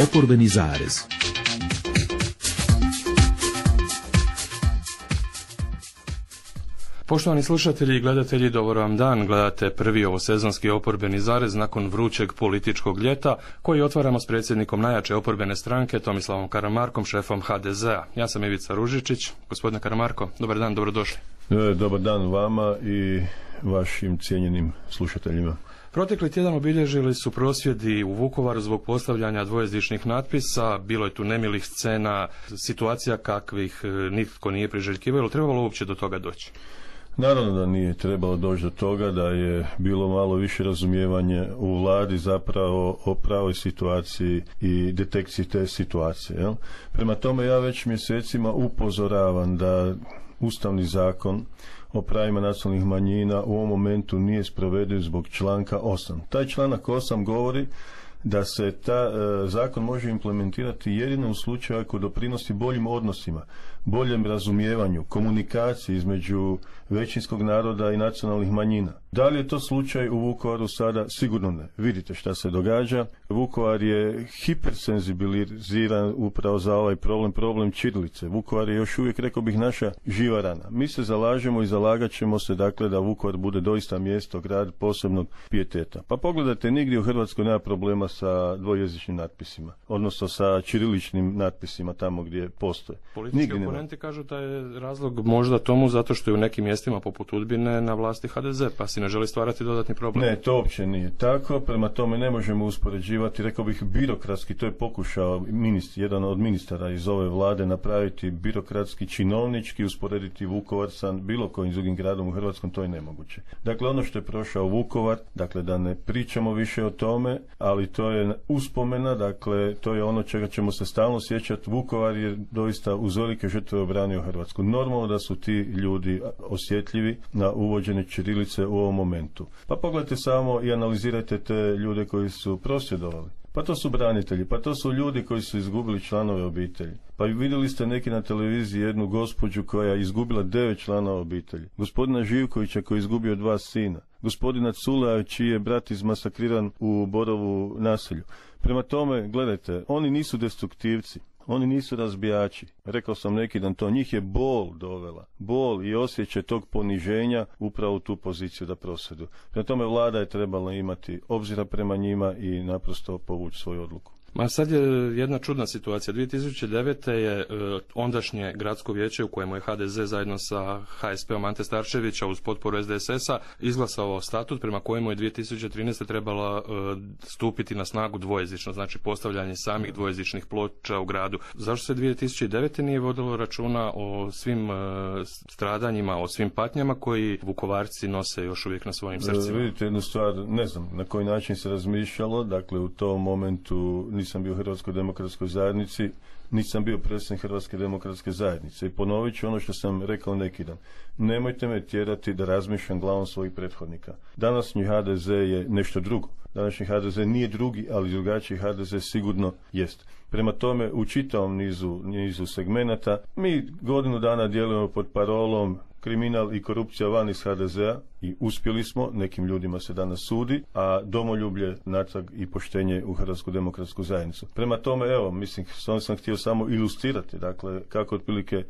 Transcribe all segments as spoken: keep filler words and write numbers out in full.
Oporbeni zarez. Poštovani slušatelji i gledatelji, dobar vam dan. Gledate prvi ovosezonski oporbeni zarez nakon vrućeg političkog ljeta koji otvaramo s predsjednikom najjače oporbene stranke Tomislavom Karamarkom, šefom ha de zea. Ja sam Ivica Ružičić. Gospodine Karamarko, dobar dan, dobrodošli. E, dobar dan vama i vašim cijenjenim slušateljima. Protekli tjedan obilježili su prosvjedi u Vukovaru zbog postavljanja dvojezičnih natpisa. Bilo je tu nemilih scena, situacija kakvih nitko nije priželjkivao. Ili trebalo uopće do toga doći? Naravno da nije trebalo doći do toga, da je bilo malo više razumijevanje u vladi zapravo o pravoj situaciji i detekciji te situacije. Jel? Prema tome ja već mjesecima upozoravam da Ustavni zakon o pravima nacionalnih manjina u ovom momentu nije sprovediv zbog članka osam. Taj članak osam govori da se ta e, zakon može implementirati jedino u slučaju ako doprinosi boljim odnosima, boljem razumijevanju, komunikaciji između većinskog naroda i nacionalnih manjina. Da li je to slučaj u Vukovaru sada? Sigurno ne. Vidite šta se događa. Vukovar je hipersenzibiliziran upravo za ovaj problem, problem ćirilice. Vukovar je još uvijek, rekao bih, naša živa rana. Mi se zalažemo i zalagat ćemo se, dakle, da Vukovar bude doista mjesto, grad posebnog pijeteta. Pa pogledajte, nigdje u Hrvatskoj nema problema sa dvojezičnim natpisima, odnosno sa ćiriličnim natpisima tamo gdje postoje. Politički oponenti kažu da je razlog možda tomu zato što je u nekim mjestima poput Udbine na vlasti ha de ze, pa si ne želi stvarati dodatni problem. Ne, to uopće nije tako, prema tome ne možemo uspoređivati, rekao bih, birokratski, to je pokušao ministr, jedan od ministara iz ove vlade napraviti birokratski, činovnički, usporediti Vukovar sa bilo kojim drugim gradom u Hrvatskom, to je nemoguće. Dakle, ono što je prošao Vukovar, dakle da ne pričamo više o tome, ali to je uspomena, dakle to je ono čega ćemo se stalno sjećati. Vukovar je doista uz velike žrtve obranio Hrvatsku. Normalno da su ti ljudi osjetljivi na uvođenje ćirilice u ovom momentu. Pa pogledajte samo i analizirajte te ljude koji su prosvjedovali. Pa to su branitelji, pa to su ljudi koji su izgubili članove obitelji. Pa vidjeli ste neki na televiziji jednu gospođu koja je izgubila devet članova obitelji. Gospodina Živkovića koji je izgubio dva sina. Gospodina Culea čiji je brat izmasakriran u Borovu naselju. Prema tome, gledajte, oni nisu destruktivci. Oni nisu razbijači. Rekao sam neki dan to. Njih je bol dovela. Bol i osjećaj tog poniženja upravo u tu poziciju da prosvjeduju. Prema tome vlada je trebala imati obzira prema njima i naprosto povući svoju odluku. Ma sad je jedna čudna situacija. dvije tisuće devete je e, ondašnje gradsko vijeće u kojemu je ha de ze zajedno sa ha es peom Ante Starčevića uz potporu es de es esa izglasao statut prema kojemu je dvije tisuće trinaeste trebala e, stupiti na snagu dvojezično, znači postavljanje samih dvojezičnih ploča u gradu. Zašto se dvije tisuće devete nije vodilo računa o svim e, stradanjima, o svim patnjama koji Vukovarci nose još uvijek na svojim srcima? E, vidite jednu stvar, ne znam na koji način se razmišljalo, dakle u tom momentu nisam bio u Hrvatskoj demokratskoj zajednici, nisam bio predsjednik Hrvatske demokratske zajednice i ponovit ću ono što sam rekao neki dan. Nemojte me tjerati da razmišljam glavom svojih prethodnika. Današnji ha de ze je nešto drugo. Današnji ha de ze nije drugi, ali drugačiji ha de ze sigurno jest. Prema tome, u čitavom nizu, nizu segmenata, mi godinu dana djelujemo pod parolom kriminal i korupcija van iz ha de zea i uspjeli smo, nekim ljudima se danas sudi, a domoljublje, natrag i poštenje u Hrvatsku demokratsku zajednicu. Prema tome, evo, mislim, s ovim sam htio samo ilustrirati, dakle, kako otprilike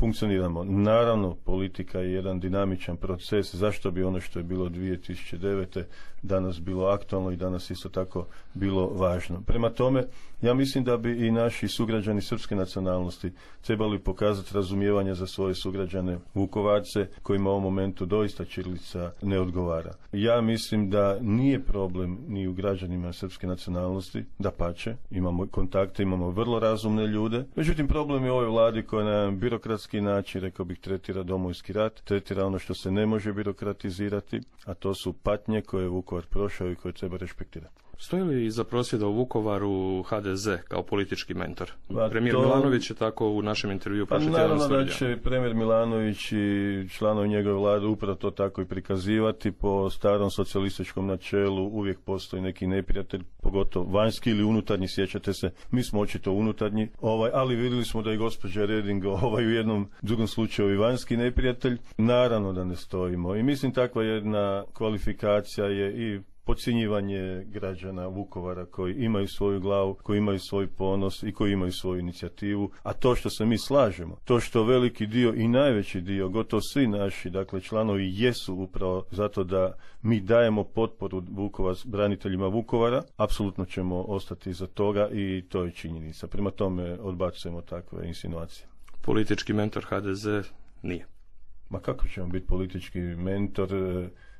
funkcioniramo. Naravno, politika je jedan dinamičan proces, zašto bi ono što je bilo dvije tisuće devete danas bilo aktualno i danas isto tako bilo važno. Prema tome, ja mislim da bi i naši sugrađani srpske nacionalnosti trebali pokazati razumijevanje za svoje sugrađane Vukovarce, kojima u ovom momentu doista ćirilica ne odgovara. Ja mislim da nije problem ni u građanima srpske nacionalnosti, dapače, imamo kontakte, imamo vrlo razumne ljude. Međutim, problem je u ovoj vladi koja na jedan birokratski način, rekao bih, tretira Domovinski rat, tretira ono što se ne može birokratizirati, a to su patnje koje je Vukovar prošao i koje treba respektirati. Stoji li iza prosvjeda u Vukovaru ha de ze kao politički mentor? Pa premijer to... Milanović je tako u našem intervjuu pa naravno da će premijer Milanović i članovi njegove vlade upravo to tako i prikazivati. Po starom socijalističkom načelu uvijek postoji neki neprijatelj, pogotovo vanjski ili unutarnji, sjećate se, mi smo očito unutarnji, ovaj, ali vidjeli smo da je gospođa Reding ovaj, u jednom drugom slučaju i vanjski neprijatelj. Naravno da ne stojimo i mislim takva jedna kvalifikacija je i podcjenjivanje građana Vukovara koji imaju svoju glavu, koji imaju svoj ponos i koji imaju svoju inicijativu, a to što se mi slažemo, to što veliki dio i najveći dio, gotovo svi naši, dakle, članovi jesu upravo zato da mi dajemo potporu Vukovar, braniteljima Vukovara, apsolutno ćemo ostati iza toga i to je činjenica. Prema tome odbacujemo takve insinuacije. Politički mentor ha de ze nije. Ma kako ćemo biti politički mentor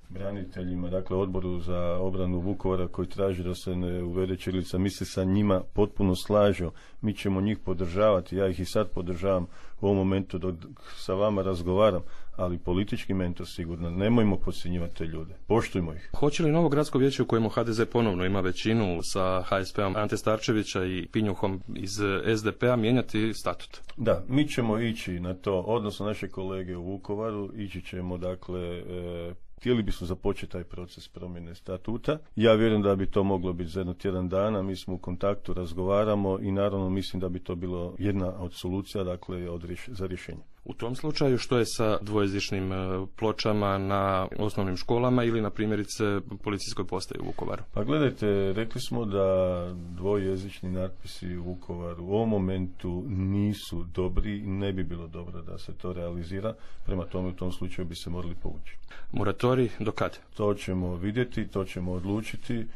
braniteljima, dakle odboru za obranu Vukovara koji traži da se ne uvede ćirilica? Mi se sa njima potpuno slažemo, mi ćemo njih podržavati, ja ih i sad podržavam u ovom momentu dok sa vama razgovaram, ali politički mentor sigurno, nemojmo podcjenjivati te ljude, poštujmo ih. Hoće li novo gradsko vijeće u kojemu ha de ze ponovno ima većinu sa ha es pe-om Ante Starčevića i Pinjuhom iz es de pe-a mijenjati statut? Da, mi ćemo ići na to, odnosno naše kolege u Vukovaru, ići ćemo dakle e, htjeli bismo započeti taj proces promjene statuta. Ja vjerujem da bi to moglo biti za jedno tjedan dana, mi smo u kontaktu, razgovaramo i naravno mislim da bi to bilo jedna od solucija, dakle od rješ- za rješenje. U tom slučaju što je sa dvojezičnim pločama na osnovnim školama ili na primjerice policijskoj postaji u Vukovaru? Pa gledajte, rekli smo da dvojezični natpisi u Vukovaru u ovom momentu nisu dobri i ne bi bilo dobro da se to realizira, prema tome u tom slučaju bi se morali povući. Moratorij do kad? To ćemo vidjeti, to ćemo odlučiti,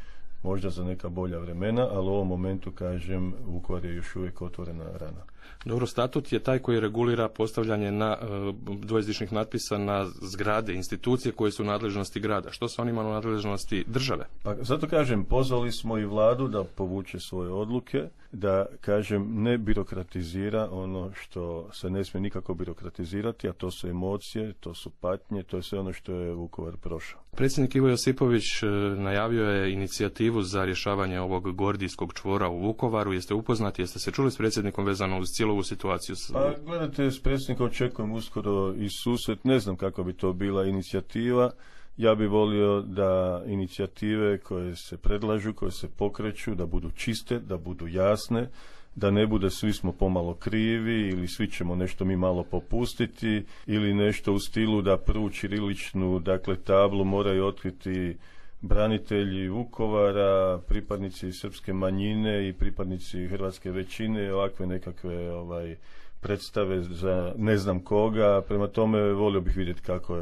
možda za neka bolja vremena, ali u ovom momentu, kažem, Vukovar je još uvijek otvorena rana. Dobro, statut je taj koji regulira postavljanje na uh, dvojezičnih natpisa na zgrade, institucije koje su u nadležnosti grada. Što sa onima u nadležnosti države? Pa zato kažem, pozvali smo i vladu da povuče svoje odluke, da, kažem, ne birokratizira ono što se ne smije nikako birokratizirati, a to su emocije, to su patnje, to je sve ono što je Vukovar prošao. Predsjednik Ivo Josipović najavio je inicijativu za rješavanje ovog gordijskog čvora u Vukovaru. Jeste upoznati, jeste se čuli s predsjednikom vezano uz cijelu ovu situaciju? Pa gledajte, s predsjednikom očekujem uskoro i susret, ne znam kako bi to bila inicijativa. Ja bih volio da inicijative koje se predlažu, koje se pokreću, da budu čiste, da budu jasne, da ne bude svi smo pomalo krivi ili svi ćemo nešto mi malo popustiti ili nešto u stilu da prvu ćiriličnu, dakle, tablu moraju otkriti branitelji Vukovara, pripadnici srpske manjine i pripadnici hrvatske većine, ovakve nekakve ovaj predstave za ne znam koga. Prema tome volio bih vidjeti kako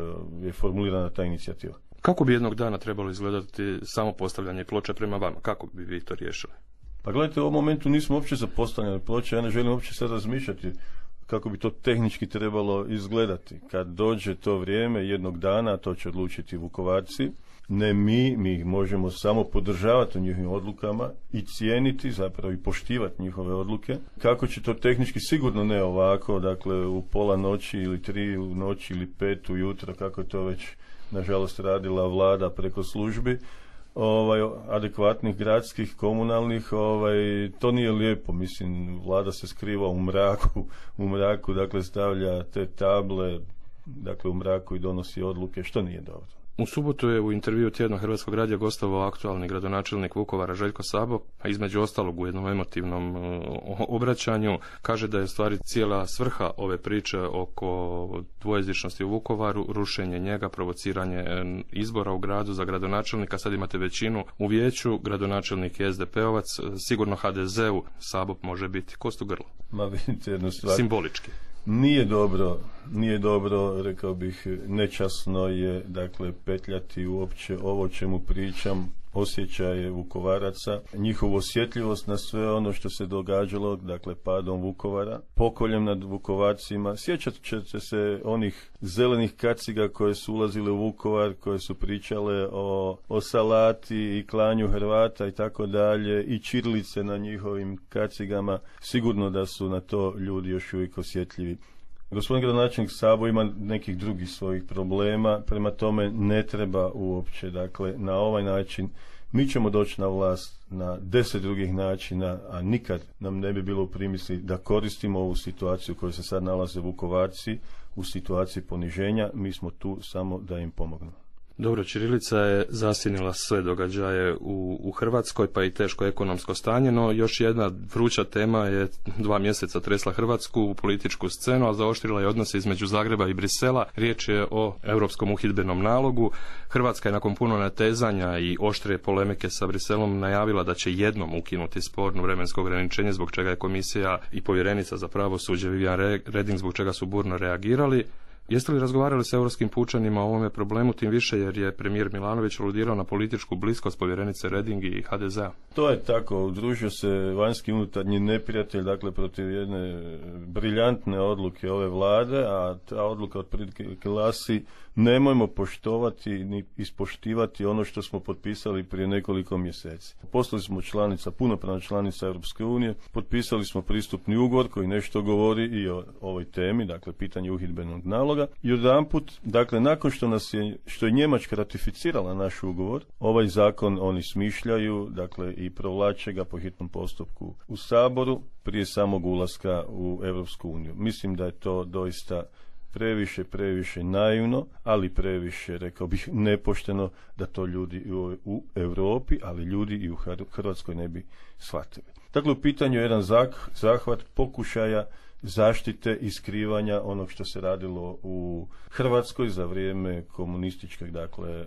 je formulirana ta inicijativa. Kako bi jednog dana trebalo izgledati samo postavljanje ploča prema vama? Kako bi vi to riješili? Pa gledajte, u ovom momentu nismo uopće za postavljanje ploča, ja ne želim uopće sad razmišljati kako bi to tehnički trebalo izgledati. Kad dođe to vrijeme jednog dana, to će odlučiti Vukovarci, ne mi, mi ih možemo samo podržavati u njihovim odlukama i cijeniti, zapravo i poštivati njihove odluke. Kako će to tehnički, sigurno ne ovako, dakle u pola noći ili tri u noći ili pet ujutro, kako je to već nažalost radila vlada preko službi, ovaj, adekvatnih gradskih, komunalnih, ovaj, to nije lijepo, mislim, vlada se skriva u mraku, u mraku, dakle stavlja te table, dakle u mraku i donosi odluke, što nije dobro. U subotu je u intervju Tjednog Hrvatskog radija gostovao aktualni gradonačelnik Vukovara Željko Sabo, a između ostalog u jednom emotivnom obraćanju kaže da je u stvari cijela svrha ove priče oko dvojezičnosti u Vukovaru rušenje njega, provociranje izbora u gradu za gradonačelnika. Sad imate većinu u vijeću, gradonačelnik je es de pe-ovac, sigurno ha de ze-u Sabo može biti kost u grlu. Ma vidite jednu stvar. Simbolički. Nije dobro, nije dobro, rekao bih, nečasno je, dakle, petljati uopće ovo čemu pričam, osjećaje Vukovaraca, njihovu osjetljivost na sve ono što se događalo, dakle, padom Vukovara, pokoljem nad Vukovarcima. Sjećat ćete se onih zelenih kaciga koje su ulazile u Vukovar, koje su pričale o, o salati i klanju Hrvata i tako dalje, i ćirilice na njihovim kacigama. Sigurno da su na to ljudi još uvijek osjetljivi. Gospodin gradonačelnik Sabo ima nekih drugih svojih problema, prema tome ne treba uopće, dakle, na ovaj način. Mi ćemo doći na vlast na deset drugih načina, a nikad nam ne bi bilo u primisli da koristimo ovu situaciju u kojoj se sad nalaze Vukovarci, u situaciji poniženja. Mi smo tu samo da im pomognemo. Dobro, ćirilica je zasjenila sve događaje u, u Hrvatskoj, pa i teško ekonomsko stanje, no još jedna vruća tema je dva mjeseca tresla Hrvatsku u političku scenu, a zaoštrila je odnose između Zagreba i Brisela. Riječ je o europskom uhidbenom nalogu. Hrvatska je nakon puno natezanja i oštre polemike sa Briselom najavila da će jednom ukinuti sporno vremensko ograničenje, zbog čega je komisija i povjerenica za pravosuđe Viviane Reding zbog čega su burno reagirali. Jeste li razgovarali s europskim pučanima o ovome problemu, tim više jer je premijer Milanović aludirao na političku bliskost povjerenice Reding i ha de zea? To je tako, udružio se vanjski unutarnji neprijatelj, dakle protiv jedne briljantne odluke ove vlade, a ta odluka otprilike glasi: nemojmo poštovati ni ispoštivati ono što smo potpisali prije nekoliko mjeseci. Postali smo članica, punopravna članica Europske unije, potpisali smo pristupni ugovor koji nešto govori i o ovoj temi, dakle pitanje uhidbenog naloga. I odjedanput, dakle nakon što nas je, što je Njemačka ratificirala naš ugovor, ovaj zakon oni smišljaju, dakle i provlače ga po hitnom postupku u Saboru prije samog ulaska u Europsku uniju. Mislim da je to doista previše, previše naivno, ali previše, rekao bih, nepošteno da to ljudi u, u Europi, ali ljudi i u Hrvatskoj ne bi shvatili. Dakle, u pitanju je jedan zahvat pokušaja zaštite i skrivanja onog što se radilo u Hrvatskoj za vrijeme komunističke, dakle,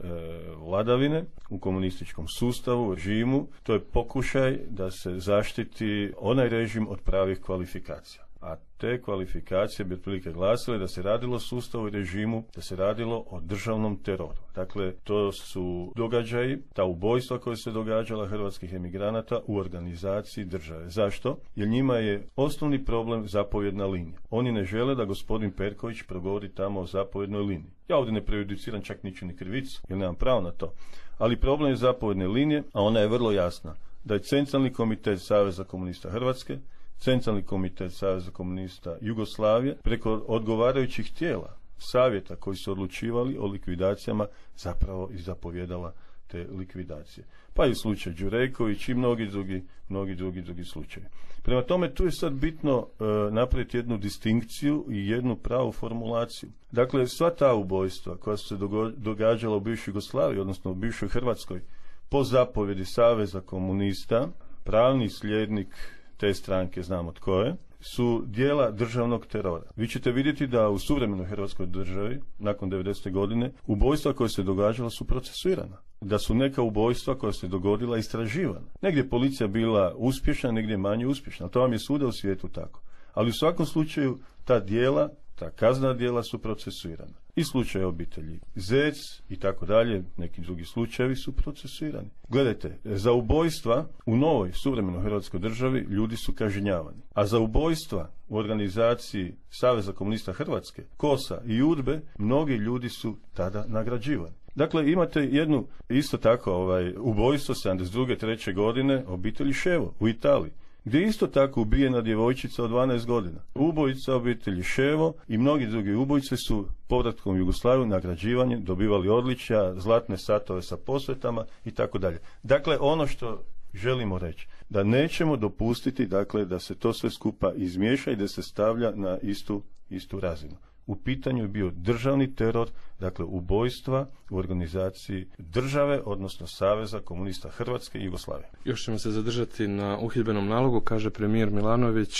vladavine, u komunističkom sustavu, režimu. To je pokušaj da se zaštiti onaj režim od pravih kvalifikacija. A te kvalifikacije bi otprilike glasile da se radilo o sustavu i režimu, da se radilo o državnom teroru. Dakle, to su događaji, ta ubojstva koja se događala hrvatskih emigranata u organizaciji države. Zašto? Jer njima je osnovni problem zapovjedna linija. Oni ne žele da gospodin Perković progovori tamo o zapovjednoj liniji. Ja ovdje ne prejudiciram čak ničiju ni krivicu, jer nemam pravo na to. Ali problem je zapovjedne linije, a ona je vrlo jasna. Da je Centralni komitet Saveza komunista Hrvatske, Centralni komitet Saveza komunista Jugoslavije preko odgovarajućih tijela, savjeta koji su odlučivali o likvidacijama, zapravo i zapovjedala te likvidacije. Pa i slučaj Đureković i mnogi drugi, mnogi drugi, drugi slučajevi. Prema tome, tu je sad bitno e, napraviti jednu distinkciju i jednu pravu formulaciju. Dakle, sva ta ubojstva koja su se dogo- događala u bivšoj Jugoslaviji, odnosno u bivšoj Hrvatskoj, po zapovjedi Saveza komunista, pravni slijednik te stranke, znamo tko je, su dijela državnog terora. Vi ćete vidjeti da u suvremenoj Hrvatskoj državi, nakon devedesete godine, ubojstva koje se događala su procesuirana. Da su neka ubojstva koja se dogodila istraživana. Negdje je policija bila uspješna, negdje manje uspješna. To vam je svuda u svijetu tako. Ali u svakom slučaju ta dijela, ta kaznena djela su procesuirana. I slučaj obitelji Zec i tako dalje, neki drugi slučajevi su procesuirani. Gledajte, za ubojstva u novoj suvremenoj Hrvatskoj državi ljudi su kažnjavani. A za ubojstva u organizaciji Saveza komunista Hrvatske, Kosa i Udbe, mnogi ljudi su tada nagrađivani. Dakle, imate jednu, isto tako, ovaj, ubojstvo sedamdeset druge treće godine obitelji Ševo u Italiji, gdje isto tako ubijena djevojčica od dvanaest godina. Ubojica obitelji Ševo i mnogi drugi ubojice su povratkom u Jugoslaviju nagrađivanje, dobivali odličja, zlatne satove sa posvetama i tako dalje. Dakle, ono što želimo reći, da nećemo dopustiti, dakle, da se to sve skupa izmiješa i da se stavlja na istu, istu razinu. U pitanju je bio državni teror, dakle ubojstva u organizaciji države, odnosno Saveza komunista Hrvatske i Jugoslavije. Još ćemo se zadržati na uhidbenom nalogu, kaže premijer Milanović,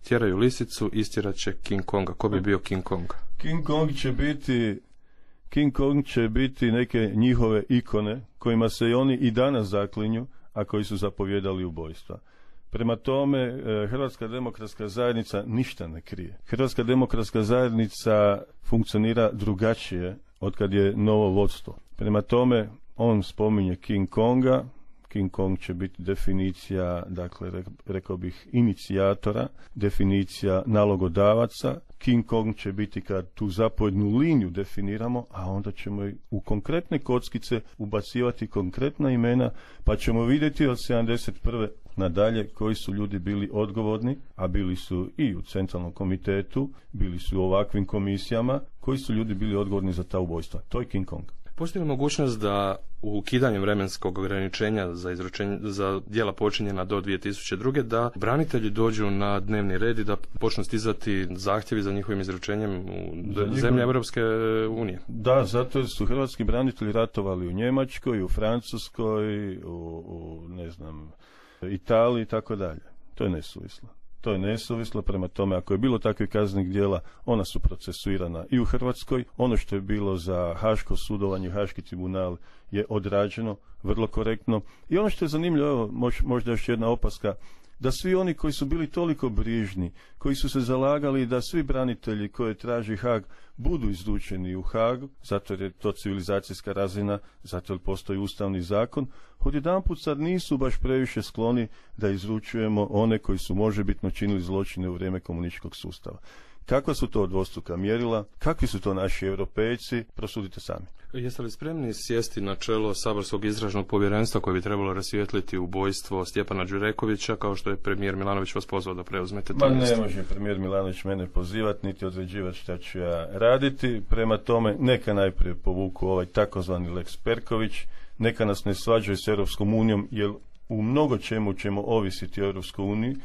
tjeraju lisicu, istjerat će King Konga. Ko bi bio King Kong? King Kong će biti, King Kong će biti neke njihove ikone kojima se i oni i danas zaklinju, a koji su zapovjedali ubojstva. Prema tome, Hrvatska demokratska zajednica ništa ne krije. Hrvatska demokratska zajednica funkcionira drugačije od kad je novo vodstvo. Prema tome, on spominje King Konga. King Kong će biti definicija, dakle, rekao bih, inicijatora, definicija nalogodavaca. King Kong će biti kad tu zapovjednu liniju definiramo, a onda ćemo i u konkretne kockice ubacivati konkretna imena, pa ćemo vidjeti od sedamdeset prve nadalje koji su ljudi bili odgovorni, a bili su i u Centralnom komitetu, bili su u ovakvim komisijama, koji su ljudi bili odgovorni za ta ubojstva. To je King Kong. Postoji li mogućnost da ukidanjem vremenskog ograničenja za, izručenje, za djela počinjena do dvije tisuće druge da branitelji dođu na dnevni red i da počnu stizati zahtjevi za njihovim izručenjem u njihov... zemlje Europske unije? Da, zato jer su hrvatski branitelji ratovali u Njemačkoj, u Francuskoj, u, u ne znam, Italiji i tako dalje. To je nesuvislo. To je nesuvislo, prema tome ako je bilo takvih kaznenih djela, ona su procesuirana i u Hrvatskoj. Ono što je bilo za haško sudovanje, haški tribunal je odrađeno vrlo korektno. I ono što je zanimljivo, evo, možda još jedna opaska, da svi oni koji su bili toliko brižni, koji su se zalagali da svi branitelji koje traži Haag budu izručeni u Haag, zato jer je to civilizacijska razina, zato jer postoji ustavni zakon, odjedanput sad nisu baš previše skloni da izručujemo one koji su možebitno činili zločine u vrijeme komunističkog sustava. Kakva su to dvostruka mjerila? Kakvi su to naši europejci? Prosudite sami. Jeste li spremni sjesti na čelo saborskog istražnog povjerenstva koje bi trebalo rasvijetliti ubojstvo Stjepana Đurekovića, kao što je premijer Milanović vas pozvao da preuzmete to mjesto? Ma ne može premijer Milanović mene pozivati, niti određivati šta ću ja raditi. Prema tome, neka najprije povuku ovaj takozvani Lex Perković, neka nas ne svađaju s Europskom unijom, jer u mnogo čemu ćemo ovisiti o Europskoj uniji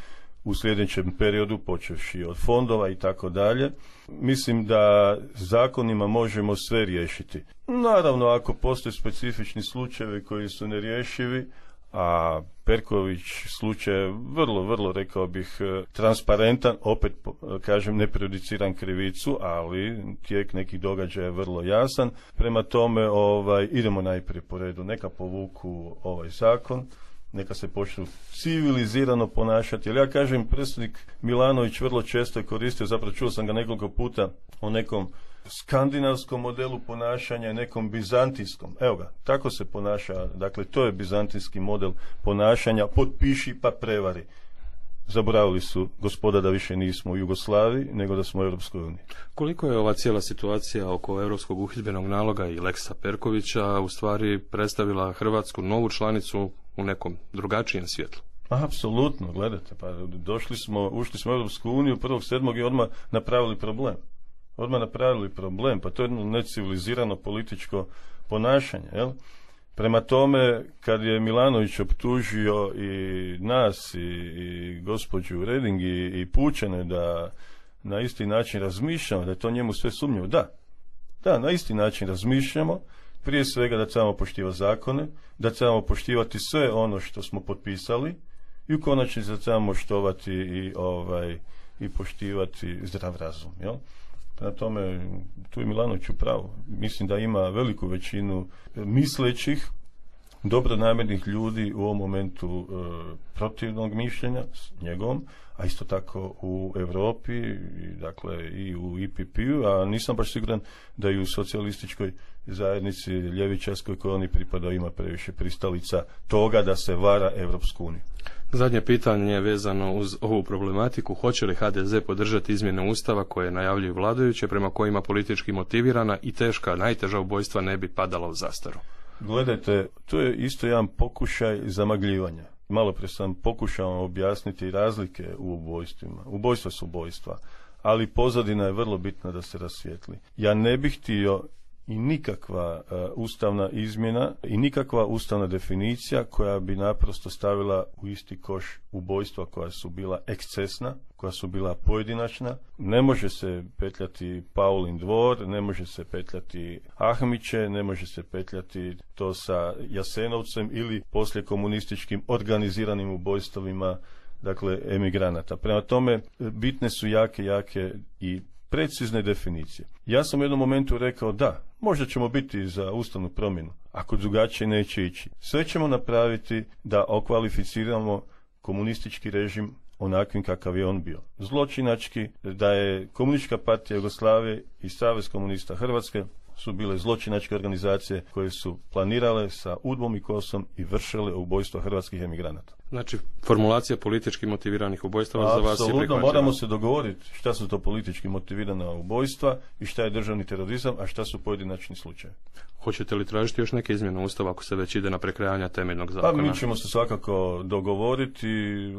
u sljedećem periodu, počevši od fondova i tako dalje. Mislim da zakonima možemo sve riješiti. Naravno, ako postoje specifični slučajevi koji su nerješivi, a Perković slučaj je vrlo, vrlo, rekao bih, transparentan, opet kažem, ne prejudiciram krivicu, ali tijek nekih događaja je vrlo jasan. Prema tome, ovaj, idemo najprije po redu, neka povuku ovaj zakon, neka se počnu civilizirano ponašati. Jer ja kažem, predsjednik Milanović vrlo često je koristio, zapravo čuo sam ga nekoliko puta o nekom skandinavskom modelu ponašanja i nekom bizantijskom. Evo ga, tako se ponaša, dakle to je bizantijski model ponašanja, potpiši pa prevari. Zaboravili su, gospoda, da više nismo u Jugoslaviji, nego da smo u Europskoj uniji. Koliko je ova cijela situacija oko Europskog uhidbenog naloga i Leksa Perkovića u stvari predstavila Hrvatsku novu članicu u nekom drugačijem svjetlu? Apsolutno, gledajte, pa došli smo, ušli smo u Europsku uniju prvog sedmog i odmah napravili problem. Odmah napravili problem, pa to je jedno necivilizirano političko ponašanje, jel? Prema tome, kad je Milanović optužio i nas i, i gospođu Reding i, i Pučane da na isti način razmišljamo, da je to njemu sve sumnjivo, da, da, na isti način razmišljamo, prije svega da trebamo poštivati zakone, da trebamo poštivati sve ono što smo potpisali i u konačnici da trebamo štovati i, ovaj, i poštivati zdrav razum, jel? Prema tome, tu je Milanović u pravu. Mislim da ima veliku većinu mislećih, dobronamjernih ljudi u ovom momentu e, protivnog mišljenja s njegovom, a isto tako u Europi, i, dakle i u I P P-u, a nisam baš siguran da i u socijalističkoj zajednici ljevičarskoj kojoj oni pripadaju ima previše pristalica toga da se vara Europsku uniju. Zadnje pitanje je vezano uz ovu problematiku. Hoće li H D Z podržati izmjene Ustava koje najavljuju vladajuće, prema kojima politički motivirana i teška, najteža ubojstva ne bi padala u zastaru? Gledajte, to je isto jedan pokušaj zamagljivanja. Malo prije sam pokušao objasniti razlike u ubojstvima. Ubojstva su ubojstva, ali pozadina je vrlo bitna da se rasvijetli. Ja ne bih htio i nikakva uh, ustavna izmjena i nikakva ustavna definicija koja bi naprosto stavila u isti koš ubojstva koja su bila ekscesna, koja su bila pojedinačna. Ne može se petljati Paulin dvor, ne može se petljati Ahmiće, ne može se petljati to sa Jasenovcem ili poslije komunističkim organiziranim ubojstvima, dakle, emigranata. Prema tome, bitne su jake, jake i precizne definicije. Ja sam u jednom momentu rekao da, možda ćemo biti za ustavnu promjenu, ako drugačije neće ići. Sve ćemo napraviti da okvalificiramo komunistički režim onakvim kakav je on bio. Zločinački, da je Komunistička partija Jugoslavije i Savez komunista Hrvatske su bile zločinačke organizacije koje su planirale sa udbom i kosom i vršile ubojstvo hrvatskih emigranata. Znači, formulacija politički motiviranih ubojstava za vas je apsolutno, prihvaćena. moramo se dogovoriti šta su to politički motivirana ubojstva i šta je državni terorizam, a šta su pojedinačni slučajevi. Hoćete li tražiti još neke izmjene Ustava ako se već ide na prekrajanje temeljnog zakona? Pa mi ćemo se svakako dogovoriti.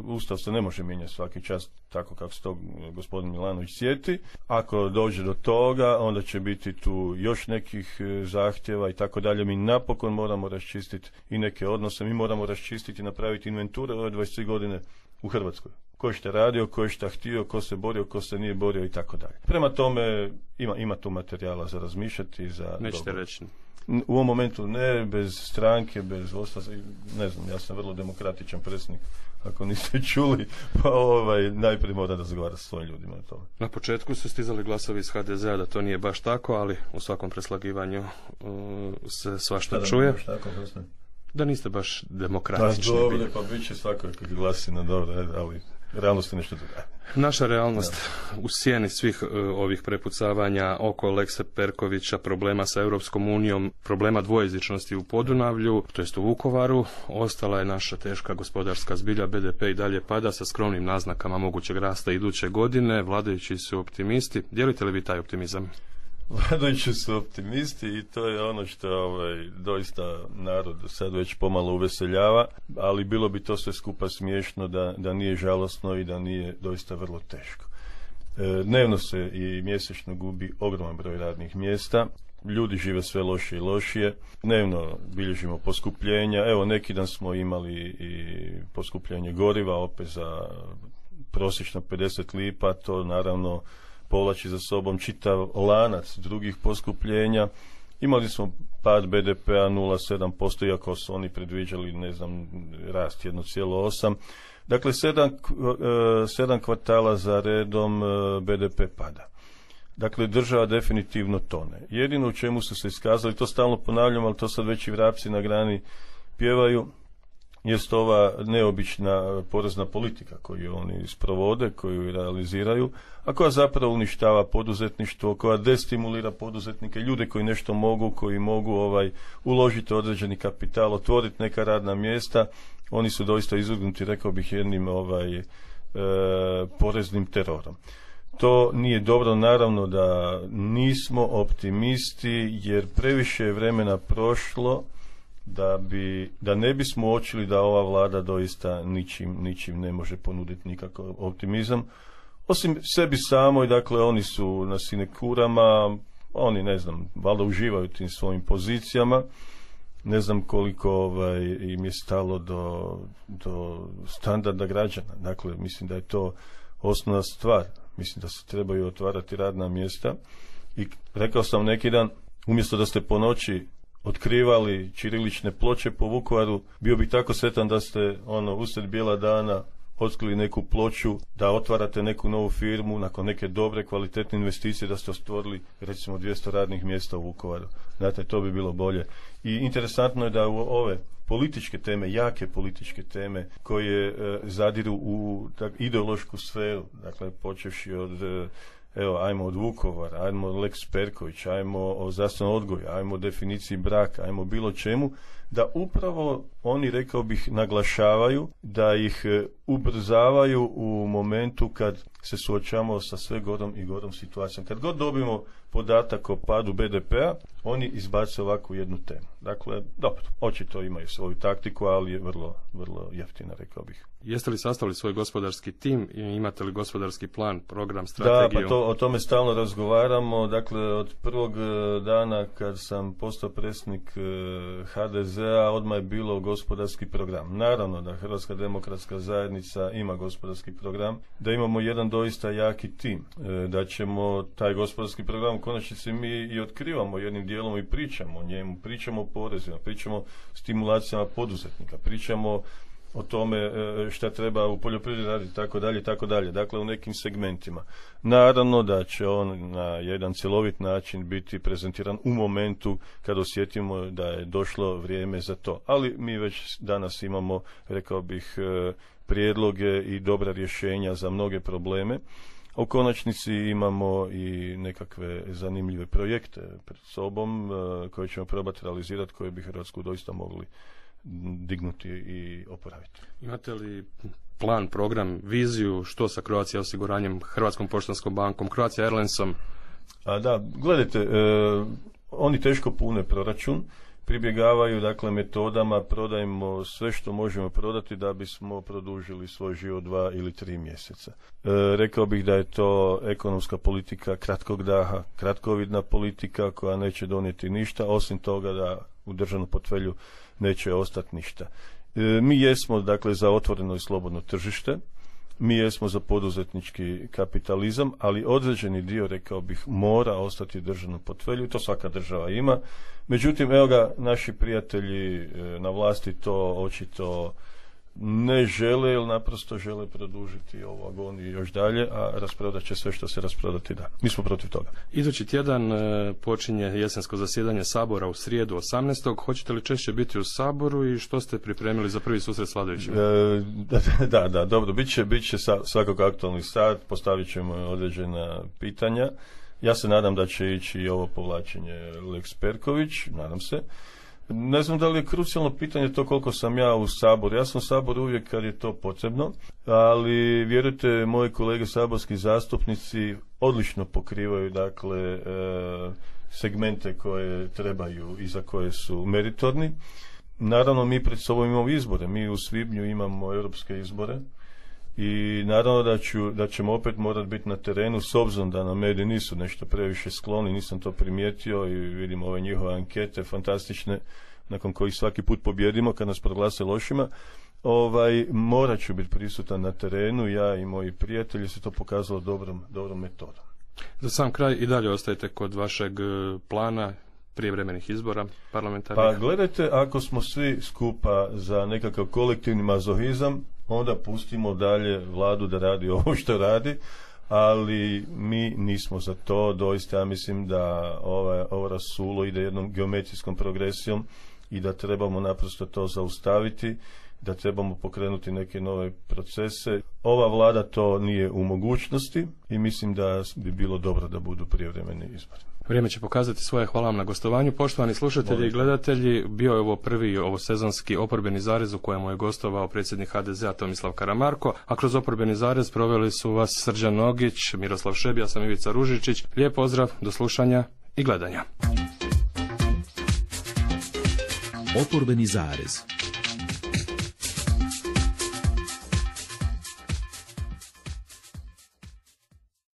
Ustav se ne može mijenjati svaki čas tako kako se to gospodin Milanović sjeti. Ako dođe do toga, onda će biti tu još nekih zahtjeva i tako dalje. Mi napokon moramo raščistiti i neke odnose. Mi moramo raščistiti i napraviti inventure ove dvadeset tri godine u Hrvatskoj. Ko je šta radio, ko je šta htio, ko se borio, ko se nije borio i tako dalje. Prema tome ima, ima tu materijala za razmišljati. Za Nećete reći. U ovom momentu ne, bez stranke, bez ostala, ne znam, ja sam vrlo demokratičan predsjednik, ako niste čuli, pa ovaj, najprije mora razgovarati s svojim ljudima o tome. Na početku su stizali glasovi iz ha de zea da to nije baš tako, ali u svakom preslagivanju uh, se svašta čuje. Baš tako, da niste baš demokratični. Pa dobro, pa bit će svakako glasina, dobro, ali realnost je nešto druga. Naša realnost da. U sjeni svih uh, ovih prepucavanja oko Lekse Perkovića, problema sa Europskom unijom, problema dvojezičnosti u Podunavlju, to jest u Vukovaru, ostala je naša teška gospodarska zbilja, be de pe i dalje pada sa skromnim naznakama mogućeg rasta iduće godine, vladajući su optimisti. Dijelite li vi taj optimizam? Vladajući su optimisti i to je ono što ovaj, doista narod sad već pomalo uveseljava, ali bilo bi to sve skupa smiješno da, da nije žalosno i da nije doista vrlo teško. E, dnevno se i mjesečno gubi ogroman broj radnih mjesta, ljudi žive sve lošije i lošije, dnevno bilježimo poskupljenja, evo neki dan smo imali i poskupljenje goriva opet za prosječno pedeset lipa, to naravno povlači za sobom čitav lanac drugih poskupljenja. Imali smo pad be de pe-a nula zarez sedam posto, iako su oni predviđali, ne znam, rast jedan zarez osam. Dakle, sedam, sedam kvartala za redom be de pe pada. Dakle, država definitivno tone. Jedino u čemu su se iskazali, to stalno ponavljam, ali to sad već i vrapci na grani pjevaju, jest ova neobična porezna politika koju oni sprovode, koju realiziraju, a koja zapravo uništava poduzetništvo, koja destimulira poduzetnike, ljude koji nešto mogu, koji mogu ovaj uložiti određeni kapital, otvoriti neka radna mjesta. Oni su doista izvrgnuti, rekao bih, jednim ovaj e, poreznim terorom. To nije dobro, naravno da nismo optimisti, jer previše je vremena prošlo da bi, da ne bismo uočili da ova vlada doista ničim, ničim ne može ponuditi nikakav optimizam. Osim sebi samoj, dakle, oni su na sinekurama, oni, ne znam, valjda uživaju tim svojim pozicijama, ne znam koliko ovaj, im je stalo do, do standarda građana. Dakle, mislim da je to osnovna stvar. Mislim da se trebaju otvarati radna mjesta i rekao sam neki dan, umjesto da ste po noći otkrivali ćirilične ploče po Vukovaru, bio bi tako sretan da ste ono usred bijela dana otkrili neku ploču, da otvarate neku novu firmu nakon neke dobre kvalitetne investicije, da ste stvorili recimo dvjesto radnih mjesta u Vukovaru. Znate, to bi bilo bolje. I interesantno je da u ove političke teme, jake političke teme koje e, zadiru u tak, ideološku sferu, dakle počevši od e, evo, ajmo od Vukovara, ajmo od Lex Perković, ajmo o zdravstvenom odgoju, ajmo o definiciji braka, ajmo bilo čemu, da upravo oni, rekao bih, naglašavaju, da ih ubrzavaju u momentu kad se suočavamo sa sve gorom i gorom situacijom. Kad god dobimo podatak o padu be de pe-a, oni izbace ovakvu jednu temu. Dakle, dobro, očito imaju svoju taktiku, ali je vrlo, vrlo jeftina, rekao bih. Jeste li sastavili svoj gospodarski tim i imate li gospodarski plan, program, strategiju? Da, pa to, o tome stalno razgovaramo. Dakle, od prvog dana kad sam postao predsjednik ha de zea, odmah je bilo gospodarski program. Naravno da Hrvatska demokratska zajednica ima gospodarski program, da imamo jedan doista jaki tim, da ćemo taj gospodarski program u konačnici mi i otkrivamo jednim dijelom i pričamo o njemu, pričamo o porezima, pričamo o stimulacijama poduzetnika, pričamo o tome šta treba u poljoprivredi raditi, tako dalje, tako dalje. Dakle, u nekim segmentima. Naravno da će on na jedan cjelovit način biti prezentiran u momentu kad osjetimo da je došlo vrijeme za to. Ali mi već danas imamo, rekao bih, prijedloge i dobra rješenja za mnoge probleme. U konačnici imamo i nekakve zanimljive projekte pred sobom koje ćemo probati realizirati, koje bi Hrvatsku doista mogli dignuti i oporaviti. Imate li plan, program, viziju što sa Croatia osiguranjem, Hrvatskom poštanskom bankom, Croatia Airlinesom? A da, gledajte, e, oni teško pune proračun, pribjegavaju dakle metodama, prodajemo sve što možemo prodati da bismo produžili svoj život dva ili tri mjeseca. E, rekao bih da je to ekonomska politika kratkog daha, kratkovidna politika koja neće donijeti ništa, osim toga da u državnom portfelju neće ostati ništa. E, mi jesmo dakle za otvoreno i slobodno tržište, mi jesmo za poduzetnički kapitalizam, ali određeni dio, rekao bih, mora ostati u državnom portfelju i to svaka država ima. Međutim, evo ga, naši prijatelji na vlasti to očito ne žele, ili naprosto žele produžiti ovu agoniju još dalje, a rasprodat će sve što se rasprodati da. Mi smo protiv toga. Idući tjedan e, počinje jesensko zasjedanje Sabora u srijedu osamnaestog Hoćete li češće biti u Saboru i što ste pripremili za prvi susret s vladajućima? E, da, da, da, dobro, bit će, bit će svakako aktualni sat, postavit ćemo određena pitanja. Ja se nadam da će ići i ovo povlačenje Lex Perković, nadam se. Ne znam da li je krucijalno pitanje to koliko sam ja u Saboru. Ja sam u Saboru uvijek kad je to potrebno, ali vjerujte, moji kolege saborski zastupnici odlično pokrivaju dakle segmente koje trebaju i za koje su meritorni. Naravno, mi pred sobom imamo izbore. Mi u svibnju imamo europske izbore i naravno da, ću, da ćemo opet morati biti na terenu, s obzirom da nam mediji nisu nešto previše skloni, nisam to primijetio i vidim ove njihove ankete fantastične nakon kojih svaki put pobjedimo kad nas proglase lošima. Ovaj, morat ću biti prisutan na terenu, ja i moji prijatelji, se to pokazalo dobrom, dobrom metodom. Za sam kraj i dalje ostajete kod vašeg plana prijevremenih izbora parlamentarnih? Pa gledajte, ako smo svi skupa za nekakav kolektivni mazohizam, onda pustimo dalje vladu da radi ovo što radi, ali mi nismo za to. Doista ja mislim da ova, ovo rasulo ide jednom geometrijskom progresijom i da trebamo naprosto to zaustaviti, da trebamo pokrenuti neke nove procese. Ova vlada to nije u mogućnosti i mislim da bi bilo dobro da budu prijevremeni izbori. Vrijeme će pokazati svoje. Hvala vam na gostovanju. Poštovani slušatelji i gledatelji, bio je ovo prvi ovo sezonski oporbeni zarez u kojemu je gostovao predsjednik ha de zea Tomislav Karamarko, a kroz oporbeni zarez proveli su vas Srđan Nogić, Miroslav Šeb, ja sam Ivica Ružičić. Lijep pozdrav, do slušanja i gledanja. Oporbeni zarez.